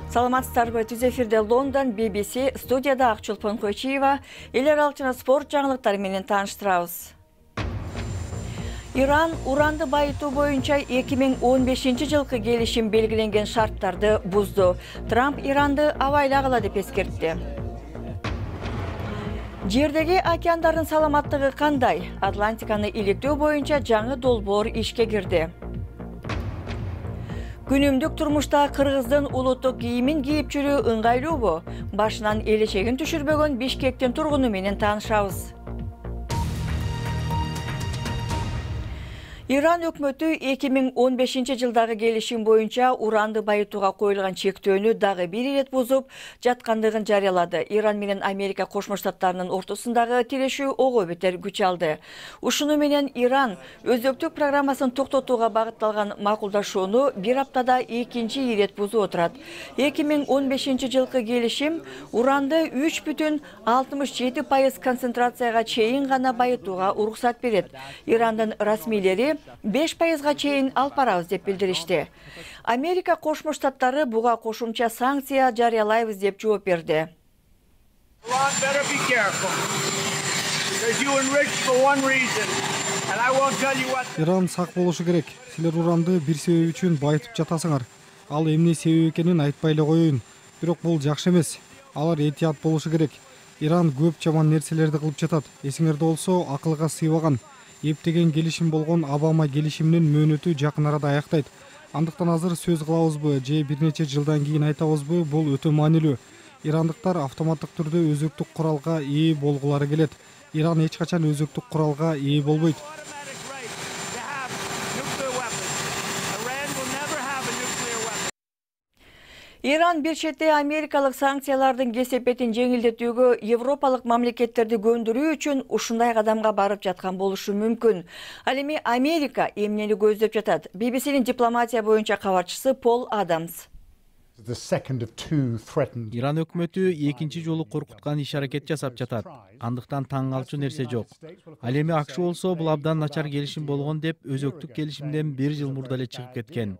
Саламатсыздарбы, түз эфирде Лондон, BBC, студияда Акчулпан Койчиева, эл аралык жана спорт жаңылыктары менен тааныштырабыз. Иран уранды байытуу боюнча 2015 жылкы келишим белгиленген шарттарды бузду. Трамп Иранды абайлагыла деп эскертти. Жердеги океандардын саламаттыгы кандай? Атлантиканы иликтөө боюнча жаңы долбоор ишке кирди. Күнүмдүк турмушта кыргыздын улуттук кийимин кийип жүрүү ыңгайлуубу? Башынан элечегин түшүрбөгөн Бишкектин тургуну менен таанышабыз. Иран өкмөтү 2015 жылдагы келишим боюнча уранды байытууга коюлган чектөөнү дагы бир ирет бузуп жаткандыгын жарыялады. Иран менен Америка Кошмо Штаттарынын ортосундагы тирешүү ого бетер күч алды. Ушуну менен Иран өзөктүк программасын токтотууга багытталган макулдашууну бир аптада экинчи ирет бузуп отурат. 2015 жылкы келишим уранды 3,67% концентрацияга чейин гана байытууга уруксат берет. Ирандын расмийлери 5%га чейин алып барабыз деп билдиришти. Америка Кошмо Штаттары буга кошумча санкция жарыялайбыз деп жооп берди. Иран сак болушу керек. Силер уранды бир себеп үчүн байытып жатасыңар. Ал эмне себеп экенин айтпай эле коеюн. Бирок бул жакшы эмес. Алар этият болушу керек. Иран көп жаман нерселерди кылып жатат. Эсиңерде болсо, акылга сыйбаган. Эптеген келишим болгон Обама келишиминин мөөнөтү жакын арада аяктайт. Андыктан азыр сөз кылабызбы же бир нече жылдан кийин айтабызбы, бул өтө маанилүү. Ирандыктар автоматтык түрдө өзөктүк куралга ээ болгулары келет. Иран эч качан өзөктүк куралга ээ болбойт. Иран бир четте америкалык санкциялардын кесепетин жеңилдетүүгө европалык мамлекеттерди көндүрүү үчүн ушундай кадамга барып жаткан болушу мүмкүн. Ал эми Америка эмнени көздөп жатат? BBC'нин дипломатия боюнча кабарчысы Пол Адамс. Иран өкмөтү экинчи жолу коркуткан иш-аракет жасап жатат. Андыктан таң калчу нерсе жок. Ал эми АКШ болсо бул абдан начар келишим болгон деп өзөктүк келишимден бир жыл мурда эле чыгып кеткен.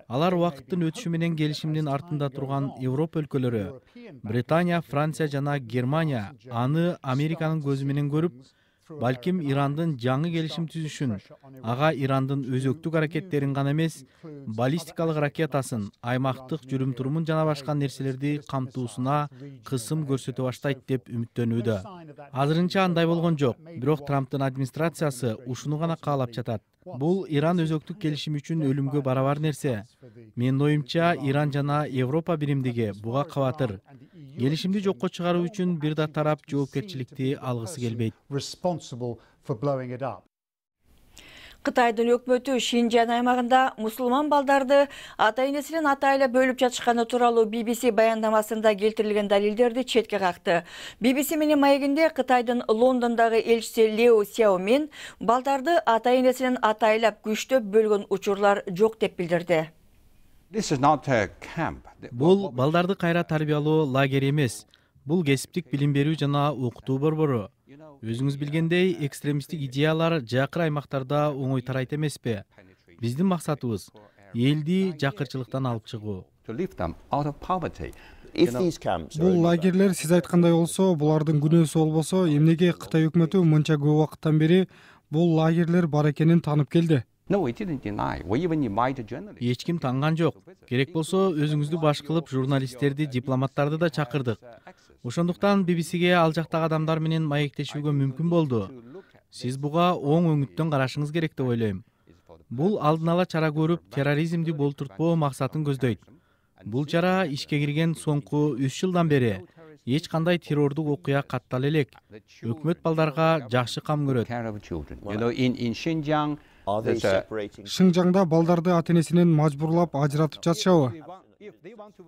Алар убакыттын өтүшү менен келишимдин артында турган Европа өлкөлөрү, Британия, Франция жана Германия аны Американын көзү менен көрүп, балким Ирандын жаңы келишим түзүшүн, ага Ирандын өзөктүк аракеттерин гана эмес, баллистикалык ракетасын, аймактык жүрүм-турумун жана башка нерселерди камтуусуна кысым көрсөтө баштайт деп үмүттөнүүдө. Азырынча андай болгон жок, бирок Трамптын администрациясы ушуну гана каалап жатат. Бул Иран өзөктүк келишим үчүн өлүмгө барабар нерсе. Менин оюмча, Иран жана Европа биримдиги буга кабатыр. Келишимди жокко чыгаруу үчүн бир да тарап жоопкерчиликти алгысы келбейт. Кытайдын өкмөтү Шинжан аймагында мусулман балдарды ата-энесинин атайла бөлүп жатышканы тууралуу BBC баяндамасында келтирилген далилдерди четке какты. BBC менен маегинде Кытайдын Лондондогу элчиси Лео Сяомин балдарды ата-энесинин атайлап күчтөп бөлгөн учурлар жок деп билдирди. Бул балдарды кайра тарбиялоо лагери эмес. Бул кесиптик билим берүү жана окутуу борбору. Өзүңүз билгендей, экстремисттик идеялар жакыр аймактарда оңой тарайт эмеспи? Биздин максатыбыз элди жакырчылыктан алып чыгуу. Бул лагерлер сиз айткандай болсо, булардын күнөөсү болбосо, эмнеге Кытай өкмөтү мынча көп убакыттан бери бул лагерлер бар экенин таанып келди? Эч ким танган жок. Керек болсо өзүңүздү баш кылып журналисттерди, дипломаттарды да чакырдык. Ошондуктан BBC'ге ал жактагы адамдар менен маектешүүгө мүмкүн болду. Сиз буга оң өңүттөн карашыңыз керек деп ойлойм. Бул алдын ала чара көрүп, терроризмди болтуртпоо максатын көздөйт. Бул чара ишке кирген соңку 3 жылдан бери эч кандай террордук окуя каттала элек. Өкмөт балдарга жакшы кам көрөт. Шинжаңда балдарды ата-энесинен мажбурлап ажыратып жатышабы?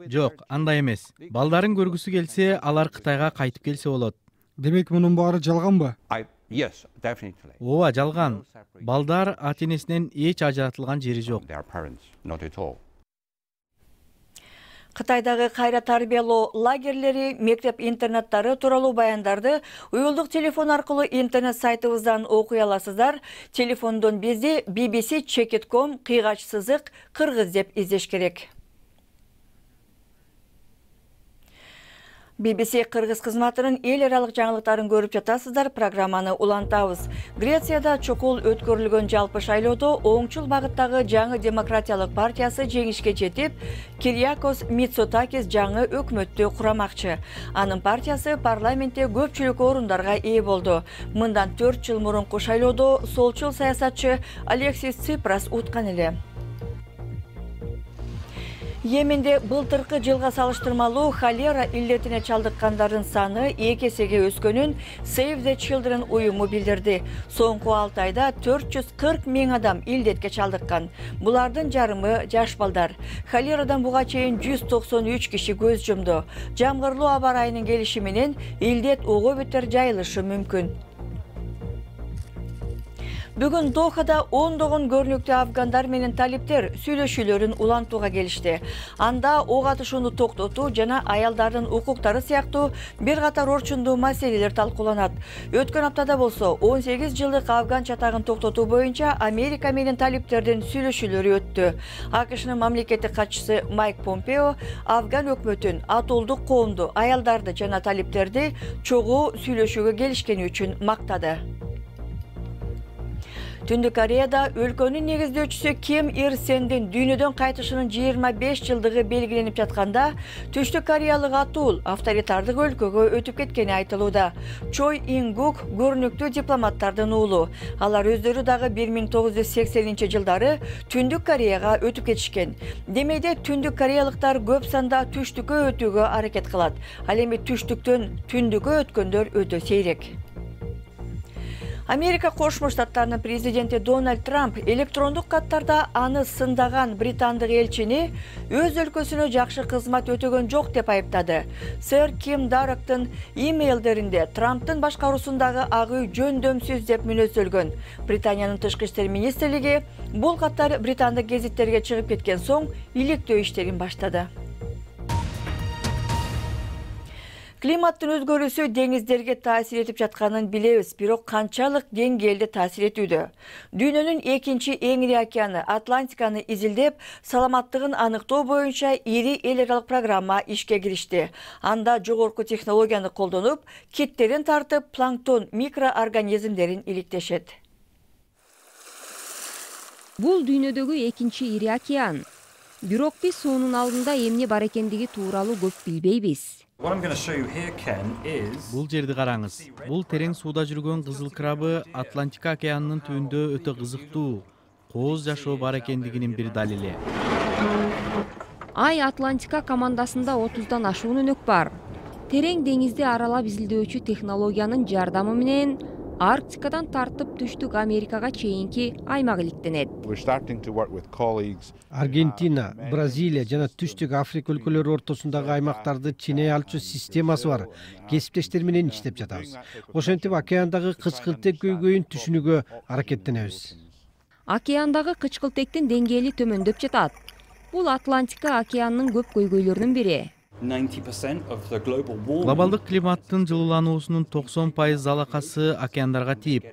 Жок, андай эмес. Балдарын көргүсү келсе, алар Кытайга кайтып келсе болот. Демек мунун баары жалганбы? Ооба, жалган. Балдар ата-энесинен эч ажыратылган жери жок. Кытайдагы кайра тарбиялоо лагерлери, мектеп-интернаттары тууралуу баяндарды уюлдук телефон аркылуу интернет сайтыбыздан окуй аласыздар. Телефондон бизди bbc.com /кыргыз деп издеш керек. BBC Кыргыз кызматынын эл аралык жаңылыктарын көрүп жатасыздар. Программаны улантабыз. Грецияда чокул өткөрүлгөн жалпы шайлоодо оңчул багыттагы жаңы демократиялык партиясы жеңишке жетип, Кириакос Мицотакис жаңы өкмөттү курамакчы. Анын партиясы парламентте көпчүлүк орундарга ээ болду. Мындан 4 жыл мурунку шайлоодо солчул саясатчы Алексис Ципрас уткан эле. Йеменде былтыркы жылга салыштырмалуу холера илдетине чалдыккандардын саны 2 эсеге өскөнүн Save the Children уюму билдирди. Соңку 6 айда 440 000 адам илдетке чалдыккан. Булардын жарымы жаш балдар. Холерадан буга чейин 193 киши көз жумду. Жамгырлуу аба ырайынын келиши менен илдет ого бетер жайылышы мүмкүн. Бүгүн Дохада ондогон көрүнүктүү афгандар менен талиптер сүйлөшүүлөрүн улантууга келишти. Анда ок атышууну токтотуу жана аялдардын укуктары сыяктуу бир катар орчундуу маселелер талкууланат. Өткөн аптада болсо 18 жылдык афган чатагын токтотуу боюнча Америка менен талиптердин сүйлөшүүлөрү өттү. АКШнын мамлекеттик катчысы Майк Помпео афган өкмөтүн атолдук коомду, аялдарды жана талиптерди чогуу сүйлөшүүгө келишкени үчүн мактады. Түндүк Кореяда өлкөнүн негиздөөчүсү Ким Ир Сендин дүйнөдөн кайтышынын 25 жылдыгы белгиленип жатканда, Түштүк Кореялык атуул авторитардык өлкөгө өтүп кеткени айтылууда. Чой Ингук көрүнүктүү дипломаттардын уулу. Алар өздөрү дагы 1980-жылдары Түндүк Кореяга өтүп кетишкен. Демейде Түндүк Кореялыктар көп санда түштүккө өтүүгө аракет кылат. Ал эми түштүктөн түндүккө өткөндөр өтө сейрек. Америка Кошмо Штаттарынын президенти Дональд Трамп электрондук каттарда аны сындаган британдык элчини өз өлкөсүнө жакшы кызмат өтөгөн жок деп айыптады. Сэр Ким Дарактын имейлдеринде Трамптын башкаруусундагы ак үй жөндөмсүз деп мүнөздөлгөн. Британиянын тышкы иштер министрлиги бул каттар британдык гезиттерге чыгып кеткен соң иликтөө иштерин баштады. Климаттын өзгөрүүсү деңиздерге таасир этип жатканын билебиз, бирок канчалык деңгээлде таасир этүүдө? Дүйнөнүн экинчи эң ири океаны Атлантиканы изилдеп, саламаттыгын аныктоо боюнча ири эл аралык программа ишке киришти. Анда жогорку технологияны колдонуп, киттерин тартып, планктон микроорганизмдерин иликтешет. Бул дүйнөдөгү экинчи ири океан. Бирок биз суунун алдында эмне бар экендиги тууралуу көп билбейбиз. Бул жерди караңыз. Бул терең сууда жүргөн кызыл крабы Атлантика океанынын түбүндө өтө кызыктуу, кооз жашоо бар экендигинин бир далили. Ай Атлантика командасында 30дан ашуун өнөк бар. Терең деңизди аралап изилдөөчү технологиянын жардамы менен Арктикадан тартып түштүк Америкага чейинки аймак иликтенет. Аргентина, Бразилия жана түштүк Африка өлкөлөрү ортосундагы аймактарды ченей алчу системасы бар кесиптештер менен иштеп жатабыз. Ошентип океандагы кычкылтек көйгөйүн түшүнүүгө аракеттенебиз. Океандагы кычкылтектин деңгээли төмөндөп жатат. Бул Атлантика океанынын көп көйгөйлөрүнүн бири. Глобалдык климаттын жылуулануусунун 90% залакасы океандарга тийип,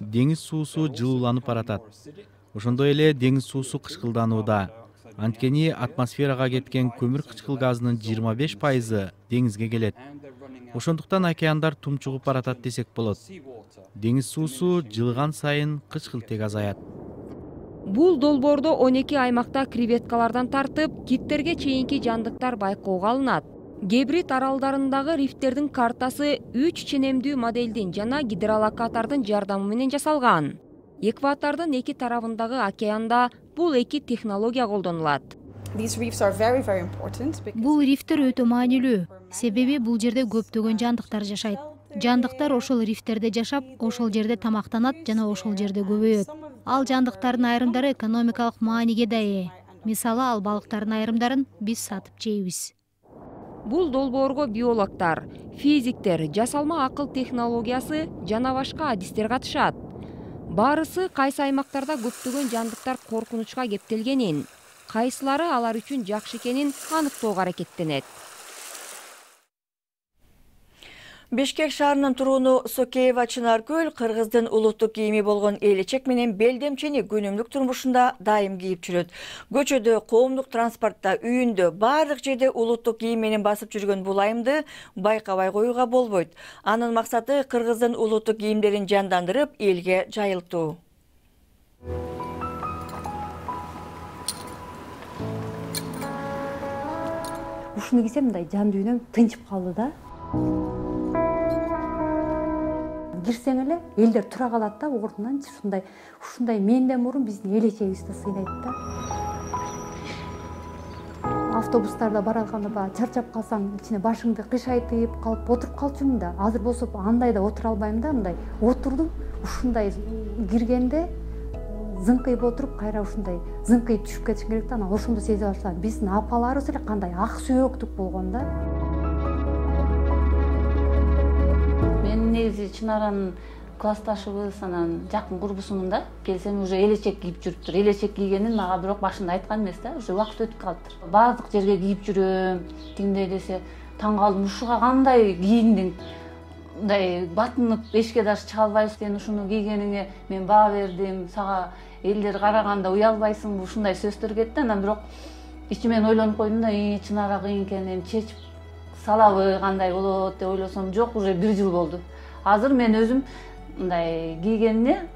деңиз суусу жылууланып баратат. Ошондой эле деңиз суусу кычкылданууда. Анткени атмосферага кеткен көмүр кычкыл газынын 25% деңизге келет. Ошондуктан океандар тумчугуп баратат десек болот. Деңиз суусу жылган сайын кычкылтек азаят. Бул долбоордо 12 аймакта креветкалардан тартып, киттерге чейинки жандыктар байкоого алынат. Гебрид аралдарындагы рифттердин картасы 3 ченемдүү моделдин жана гидролокатордун жардамы менен жасалган. Экватордун эки тарабындагы океанда бул эки технология колдонулат. Бул рифттер өтө маанилүү, себеби бул жерде көптөгөн жандыктар жашайт. Жандыктар ошол рифттерде жашап, ошол жерде тамактанат жана ошол жерде көбөйөт. Ал жандыктардын айрымдары экономикалык мааниге да ээ. Мисалы, ал балыктардын айрымдарын биз сатып жейбиз. Бул долбоорго биологдор, физиктер, жасалма акыл технологиясы жана башка адистер катышат. Баарысы кайсы аймактарда көптөгөн жандыктар коркунучка кептелгенин, кайсылары алар үчүн жакшы экенин аныктоого аракеттенет. Бишкек шаарынын турууну Сокеева Чынаркөл кыргыздын улуттук кийими болгон элечек менен белдемчени күнүмдүк турмушунда дайым кийип жүрөт. Көчөдө, коомдук транспортто, үйүндө, бардык жерде улуттук кийим менен басып жүргөн бул айымды байкабай коюуга болбойт. Анын максаты кыргыздын улуттук кийимдерин жандандырып, элге жайылтуу. Ушуну кийсем мындай жан дүйнөм тынчып калды да. Кирсең эле элдер тура калат да ордунан ушундай менден мурун биздин элечегибизди сыйнайт да. Автобустарда баратканда баягы чарчап калсаң, ичине башыңды кыйшайтып калып отуруп калчумун да. Азыр болсо андай да отура албайм да, мындай отурдум. Ушундай киргенде зыңкыйып отуруп, кайра ушундай зыңкыйып түшүп кетишим керек да. Анан ошондо сезе баштадым. Биздин апаларыбыз эле кандай ак сөөктүк болгон да. Мен негизи Чынаранын классташыбыз, анан жакын курбусумун да. Келсем уже элечек кийип жүрүптүр. Элечек кийгенин мага бирок башында айткан эмес да. Уже убакыт өтүп калыптыр. Баардык жерге кийип жүрөм. Тиңдей десе таң калдым. Ушуга кандай кийиндиң? Мындай батынып эшикке даже чыга албайсың. Сен ушуну кийгениңе мен баа бердим. Сага элдер караганда уялбайсыңбы? Ушундай сөздөр кетти. Анан бирок ичимен ойлонуп койдум да, Чынара кыйын экен, эми чечип салабы кандай болот деп ойлосом, жок, уже 1 жыл болду. Азыр мен өзүм мындай кийгенине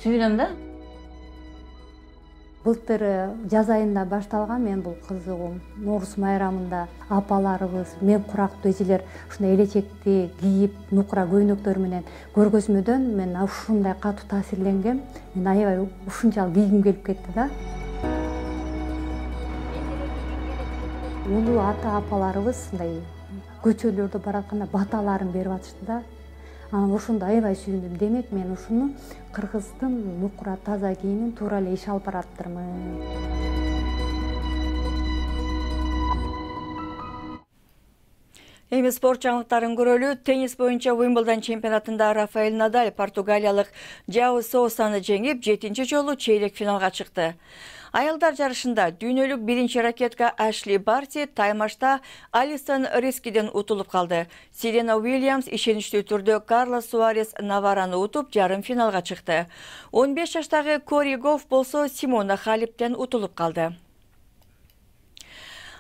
сүйүнөм да. Былтыр жаз айында башталган мен бул кызыгуум. Нооруз майрамында апаларыбыз, мен курактуу эжелер ушундай элечекти кийип, нукура көйнөктөр менен көргөзмөдөн мен ушундай катуу таасирленгем. Мен аябай ушунчалык кийгим келип кетти да. Улуу ата апаларыбыз мындай көчөлөрдө баратканда баталарын берип атышты да. Анан ошондо аябай сүйүндүм. Демек мен ушуну кыргыздын нукура таза кийимин туура эле иш алып бараптырмын. Эми спорт жаңылыктарын көрөлү. Теннис боюнча Уимблдон чемпионатында Рафаэль Надаль португалиялык Жао Соусаны жеңип, 7-чи жолу чейрек финалга чыкты. Аялдар жарышында дүйнөлүк 1-чи ракетка Ашли Барти таймашта Алисон Рискиден утулуп калды. Серена Уильямс ишеничтүү түрдө Карлос Суарес Навараны утуп, жарым финалга чыкты. 15 жаштагы Кори Гофф болсо Симона Халептен утулуп калды.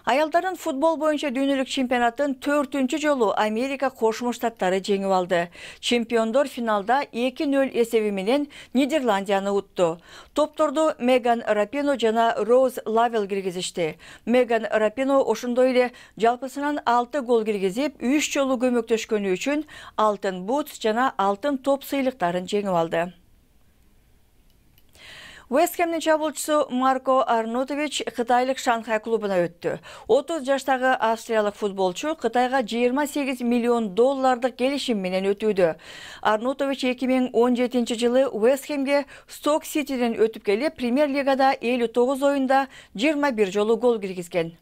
Аялдардын футбол боюнча дүйнөлүк чемпионатын 4-чү жолу Америка Кошмо Штаттары жеңип алды. Чемпиондор финалда 2-0 эсеби менен Нидерландияны утту. Топторду Меган Рапино жана Роуз Лавел киргизишти. Меган Рапино ошондой эле жалпысынан 6 гол киргизип, 3 жолу көмөктөшкөнү үчүн алтын бут жана алтын топ сыйлыктарын жеңип алды. West Ham'nin чабуулчусу Марко Арнотович Кытайлык Шанхай клубуна өттү. 30 жаштагы австриялык футболчу Кытайга $28 миллион келишим менен өтүүдө. Арнотович 2017 жылы West Ham'ге Stoke City'ден өтүп келип, Премьер лигада 59 оюнда 21 жолу гол киргизген.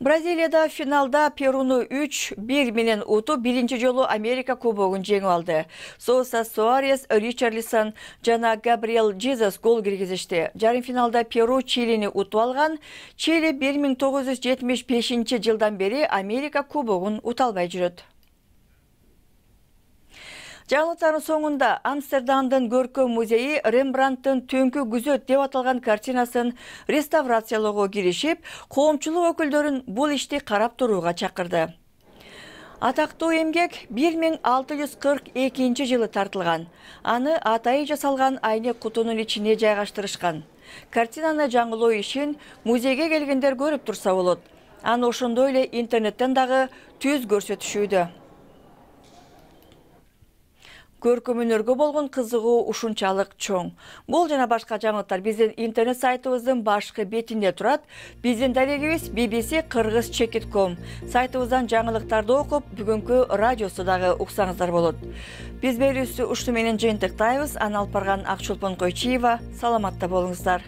Бразилияда финалда Перуну 3-1 менен утуп, 1-чи жолу Америка кубогун жеңип алды. Соуса Суарес, Ричарлисон жана Габриэл Жезус гол киргизишти. Жарым финалда Перу Чилини утуп алган. Чили 1975 жылдан бери Америка кубогун ута албай жүрөт. Жаңылыктардын соңунда Амстердамдын көркөм музейи Рембрандттын Түнкү күзөт деп аталган картинасын реставрациялоого киришип, коомчулук өкүлдөрүн бул ишти карап турууга чакырды. Атактуу эмгек 1642 жылы тартылган. Аны атайы жасалган айнек кутунун ичине жайгаштырышкан. Картинаны жаңылоо ишин музейге келгендер көрүп турса болот. Аны ошондой эле интернеттен дагы түз көрсөтүшүүдө. Көркөмөнөргө болгон кызыгуу ушунчалык чоң. Бул жана башка жаңылыктар биздин интернет сайтыбыздын башкы бетинде турат. Биздин дарегибиз bbc-kyrgyz.com. Сайтыбыздан жаңылыктарды окуп, бүгүнкү радиосу дагы уксаңыздар болот. Биз берүүбүздү ушуну менен жыйынтыктайбыз. Аны алып барган Акчолпон Койчиева. Саламатта болуңуздар.